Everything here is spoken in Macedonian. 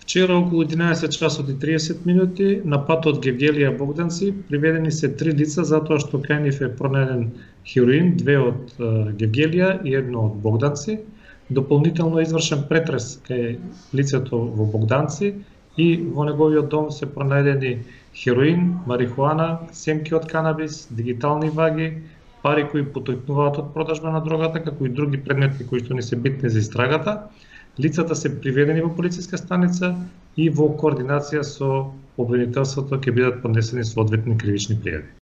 Вчера околу 11 часот и 30 минути на патот Гевгелија Богданци приведени се 3 лица затоа што кај нив е пронајден хероин, 2 од Гевгелија и 1 од Богданци. Дополнително е извршен претрес кај лицето во Богданци и во неговиот дом се пронајдени хероин, марихуана, семки од канабис, дигитални ваги, пари кои потекнуваат од продажба на дрогата, како и други предмети кои што не се битни за истрагата. Лицата се приведени во полициска станица и во координација со обвинителството ќе бидат поднесени соодветни кривични пријави.